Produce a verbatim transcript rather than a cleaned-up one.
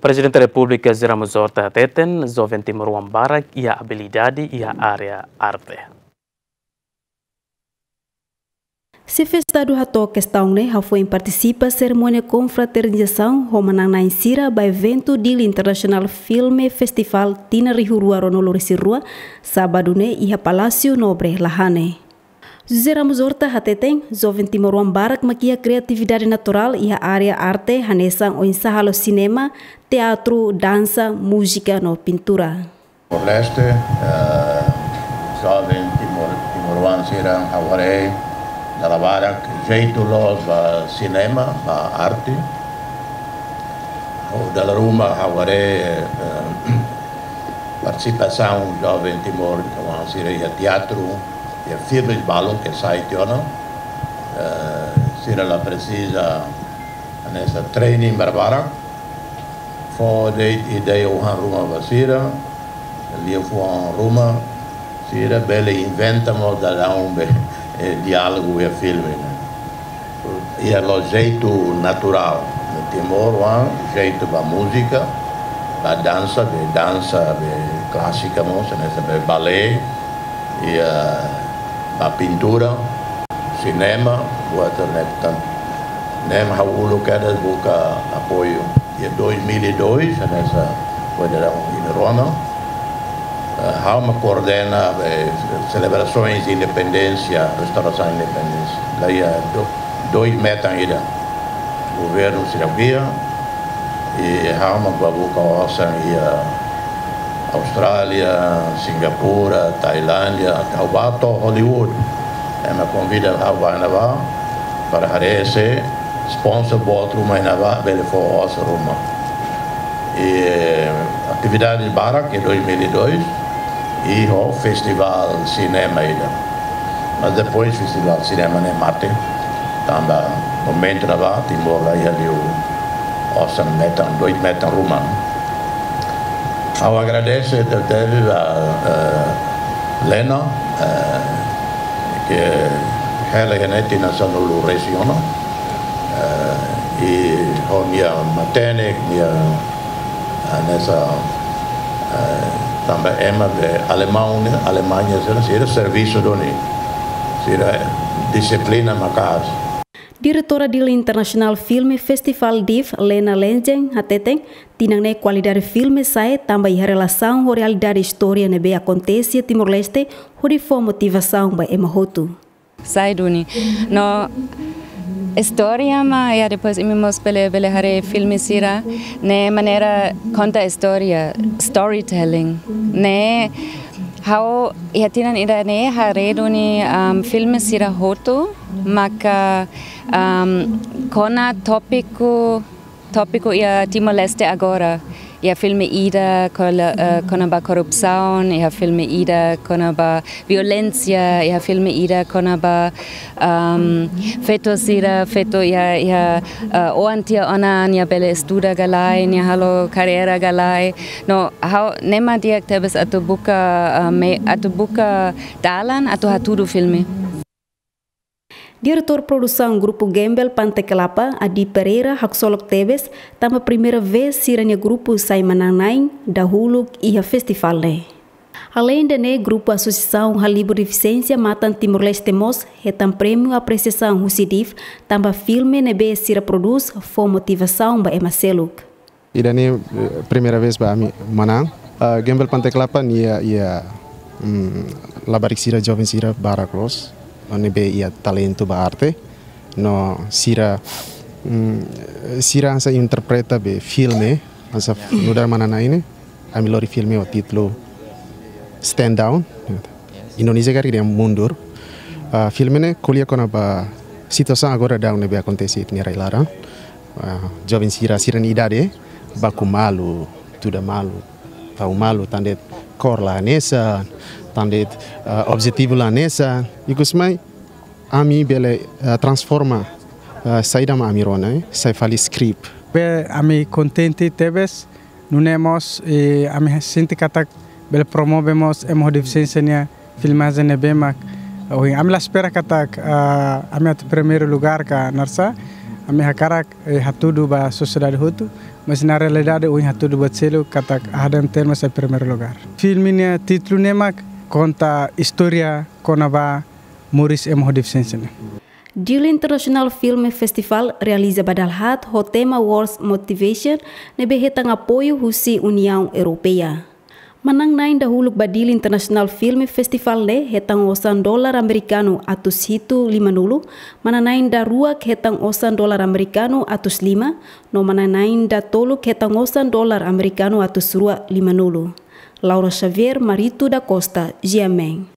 Prezidente Repúblika José Ramos Horta hateten, joven timoroan barak iha abilidade iha área arte. Xefe Estadu hato'o kestaun ne'e hafoin partisipa serimónia konfraternizasaun ho manán-na'in sira ba eventu Dili International Film Festival tinan rihun rua ruanulu-resin-rua, sábadu ne'e iha Palásiu Nobre Lahane. José Ramos Horta hateten, joven timoroan barak mak iha kriatividade naturál iha área arte hanesan oinsá halo sinema, teatru, dansa, múzika no pintura. Timor-Leste, eh, joven timor-, timoroan sira ha'u haree dala barak jeitu loos ba sinema, ba arte. Ho dala ruma ha'u haree, eh, partisipasaun joven timoroan sira iha teatru, iha filmes balun ke sai tiha ona. Eh, sira la presiza hanesan training barbarak. Fó de'it ideia oioin ruma ba sira, liafuan ruma, sira bele inventa mós daudaun be, eh, diálogu iha filme ne'e. Iha loos jeitu naturál. Timoroan jeitu ba múzika, ba dansa, be dansa be klásika mós, hanesan be balé, iha ba pintura, sinema, buat ne'e tan. Ne'e mak ha'u uluk kedas buka apoiu. Iha dois mil e dois, hanesan foin daudaun imi rona, eh, ha'u mak koordena, eh, selebrasoens independénsia, restaurasaun independénsia. La iha do-, dois metan ida. Governu sira ko'alia, i ha'u mak bá buka osan iha Austrália, Singapura, Tailándia, ha'u bá to'o Hollywood. Ema konvida ha'u bá iha ne'ebá, para haree se sponsor boot ruma iha ne'ebá, bele fó osan ruma. I atividade barak iha dois mil e dois, i ho festivál sinema ida. Mas depois festivál sinema ne'e mate. Tanba momentu ne'ebá, Timor la iha liu osan metan, dois metan ruma. Ha'u agradese tebetebes ba, eh, Lena, eh, ke hela iha ne'e tinan sanulu-resin-ono, eh, i ho nia matenek, nia hanesan, eh, tanba ema be Alemaun ne'e, Alemaña sira, sira servisu duni, sira dixiplina maka'as. Diretora Dili International Film Festival, DIFF, Lena Lenjen, hateten, tinan ne'e kualidade filme sa'e tanba iha relasaun ho realidade istória ne'ebé akontese iha Timor-Leste, hodi fó motivasaun ba ema hotu. Sai duni. No istória mak, ya, depois imi mós bele, bele haree filme sira, ne'e maneira konta istória, storytelling. Ne'e ha'u iha tinan ida-ne'e haree duni, um, filme sira hotu, maka, um, kona tópiku, tópiku iha Timor-Leste agora. Iha filme ida kola-, eh, kona-ba korrupsaun, iha filme ida kona-ba violénsia, iha filme ida kona-ba, um, feto sira, feto iha, iha, eh, oan tiha ona, nia bele estuda ka lae, nia halo karreira ka lae. No, ha'u, ne'e mak di'ak tebes atu buka, eh, me-, atu buka dalan atu hatudu filme. Diretór produsaun grupu Gembel Pante Kelapa, Adi Pereira, haksolok tebes, tanba primeira vez sira-nia grupu sai manán-na'in dahuluk iha festivál ne'e. Aleinde ne'e, grupu Asosiasaun Halibur Defisiénsia Matan Timor-Leste mós hetan prémiu apresiasaun husi DIFF, tanba filme ne'ebé sira prodús fó motivasaun ba ema seluk. Ida-ne'e, eh, primeira vez ba ami manán. Ah, Gembel Pante Kelapa nia, iha, mm, labarik sira, joven sira barak loos, ne'ebé iha talentu ba arte. No sira, mm, sira hanesan interpreta be filme, hanesan nu'udar manán-na'in ne'e, ami lori filme ho títulu Stand Down. Indonézia karik dehan Mundur. Ah, filme ne'e ko'alia kona-ba situasaun agora daudaun ne'ebé akontese iha ita-nia rai-laran. Ah, joven sira, sira-nia idade, baku malu, tuda malu, tau malu, tan de'it kór la hanesan, tan de'it, ah, objetivu la hanesan, ikus mai ami bele, ah, transforma, ah, saida mak ami rona, eh, sai fali skrip. Be ami kontente tebes, nune'e mós, eh, ami sente katak bele promove mós ema ho defisiénsia nia filmajen ne'ebé mak ohin. Ami la espera katak, ah, ami atu primeiru lugár ka naran sá. Ami hakarak hatudu ba sosiedade hotu, mas na realidade ohin hatudu ba selu katak Ahadem Terma sai primeiru lugar. Filme nia títulu ne'e mak konta istória kona-ba moris ema ho defisiénsia ne'e. Dili International Film Festival realiza ba dala haat ho tema World Motivation ne'ebé hetan apoiu husi Uniaun Europeia. Manán-na'in dahuluk ba Dili International Film Festival ne'e hetan osan dolar amerikanu atus hitu lima-nulu, manán-na'in daruak hetan osan dolar amerikanu atus lima, no manán-na'in datoluk hetan osan dolar amerikanu atus rua lima-nulu. Laura Xavier, Marito da Costa, GMN.